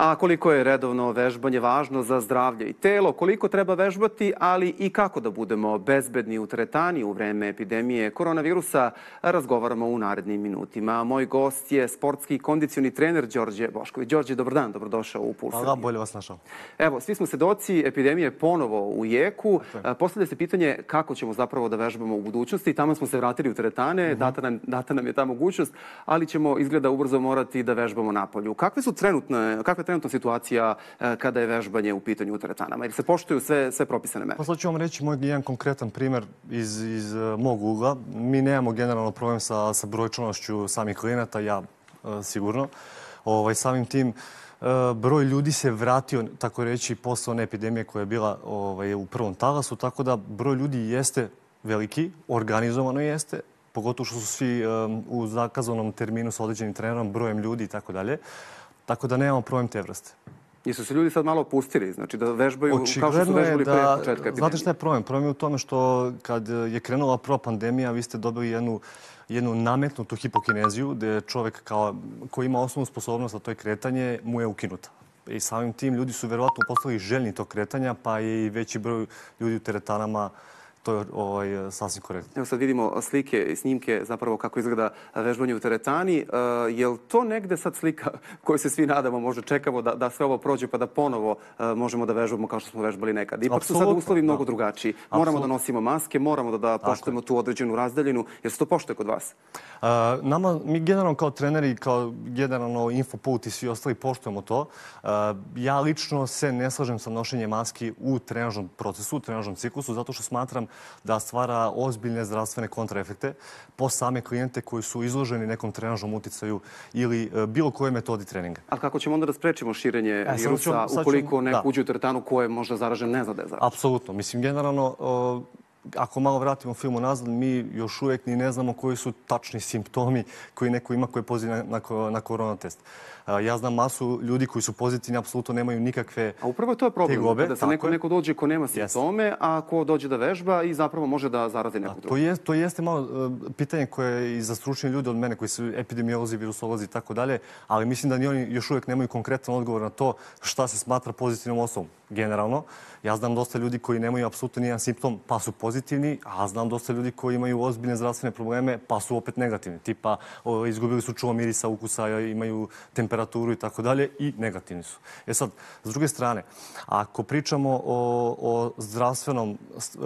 A koliko je redovno vežbanje važno za zdravlje i telo, koliko treba vežbati, ali i kako da budemo bezbedni u teretani u vreme epidemije koronavirusa, razgovaramo u narednim minutima. Moj gost je sportski kondicioni trener Đorđe Bošković. Đorđe, dobar dan, dobrodošao u Puls. Hvala, bolje vas našao. Evo, svi smo svedoci, epidemije ponovo u jeku. Postavlja se pitanje kako ćemo zapravo da vežbamo u budućnosti. Tamo smo se vratili u teretane, data nam je ta mogućnost, ali ćemo izgleda ubrzo morati da vežbamo napolju. Kakva je trenutna situacija kada je vežbanje u pitanju u teretanama? Jer se poštuju sve propisane mere? Pa sad ću vam reći moj jedan konkretan primjer iz mog ugla. Mi nemamo generalno problem sa brojčanošću samih klijenata, ja sigurno. Samim tim broj ljudi se vratio, tako reći, posle one epidemije koja je bila u prvom talasu, tako da broj ljudi jeste veliki, organizovano jeste, pogotovo što su svi u zakazanom terminu sa određenim trenerom, brojem ljudi i tako dalje. Tako da nemamo problem te vrste. Jesu se ljudi sad malo opustili, znači da vežbaju kao što su vežbali pre početka epidemije? Znate šta je problem? Problem je u tome što kad je krenula prva pandemija, vi ste dobili jednu nametnutu hipokineziju, gde čovjek koji ima osnovnu sposobnost, a to je kretanje, mu je ukinuta. I samim tim ljudi su verovatno postali željni tog kretanja, pa je i veći broj ljudi u teretanama. To je sasvim korektno. Evo sad vidimo slike i snimke zapravo kako izgleda vežbanje u teretani. Je li to negde sad slika koju se svi nadamo, možda čekamo da sve ovo prođe pa da ponovo možemo da vežbamo kao što smo vežbali nekad? Ipak su sad uslovi mnogo drugačiji. Moramo da nosimo maske, moramo da poštujemo tu određenu razdaljinu. Jer se to poštuje kod vas? Mi generalno kao treneri, kao generalno Infoput i svi ostali poštujemo to. Ja lično se ne slažem sa nošenjem maski u trenažnom procesu, u trenažnom ciklusu, zato što smatram da stvara ozbiljne zdravstvene kontraefekte po same klijente koji su izloženi nekom trenažnom uticaju ili bilo kojoj metodi treninga. Ali kako ćemo onda da sprečimo širenje virusa ukoliko neko uđe u teretanu ko je možda zaražen, ne zna da je zaražen? Apsolutno. Mislim, generalno, ako malo vratimo film nazad, mi još uvijek ni ne znamo koji su tačni simptomi koji neko ima koji je pozitivan na korona test. Ja znam masu ljudi koji su pozitivni, apsolutno nemaju nikakve tegobe. A upravo to je problem, da se neko dođe ko nema simptome, a ko dođe da vežba i zapravo može da zarazi nekog drugog. To jeste malo pitanje koje je i za stručni ljudi od mene, koji su epidemiolozi, virusolozi i tako dalje, ali mislim da ni oni još uvijek nemaju konkretan odgovor na to šta se smatra pozitivnom osobom. Generalno, ja znam dosta ljudi koji nemaju apsolutno nijedan simptom pa su pozitivni, a znam dosta ljudi koji imaju ozbiljne zdravstvene probleme pa su opet negativni. Tipa, izgubili su čulo mirisa, ukusa, imaju temperaturu i tako dalje i negativni su. Sad, s druge strane, ako pričamo o zdravstvenom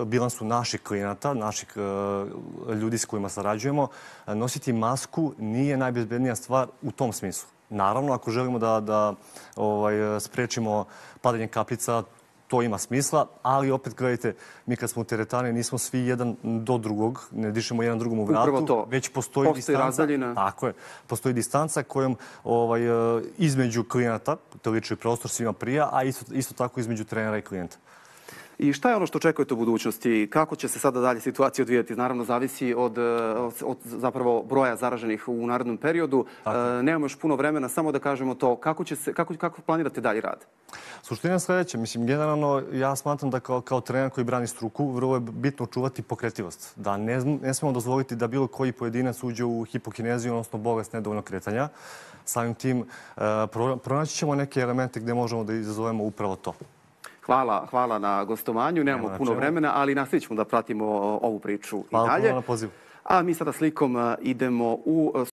bilansu naših klijenata, naših ljudi s kojima sarađujemo, nositi masku nije najbezbednija stvar u tom smislu. Naravno, ako želimo da sprečimo padanje kapljica, to ima smisla, ali opet gledajte, mi kad smo u teretani nismo svi jedan do drugog, ne dišemo jedan drugom u vratu, već postoji distanca. Tako je. Postoji distanca kojom između klijenata, to liči prostor svima prija, a isto tako između trenera i klijenta. I šta je ono što očekujete u budućnosti? Kako će se sada dalje situacija odvijati? Naravno, zavisi od zapravo broja zaraženih u narednom periodu. Nemamo još puno vremena, samo da kažemo to. Kako planirate dalje rad? Suština je sljedeća. Mislim, generalno, ja smatram da kao trener koji brani struku, vrlo je bitno čuvati pokretljivost. Da ne smemo dozvoliti da bilo koji pojedinac uđe u hipokineziju, odnosno bolest nedovoljnog kretanja. Samim tim, pronaći ćemo neke elemente gdje možemo da izazovemo upravo to. Hvala na gostovanju. Nemamo puno vremena, ali nastavit ćemo da pratimo ovu priču i dalje. Hvala na pozivu. A mi sada slikom idemo u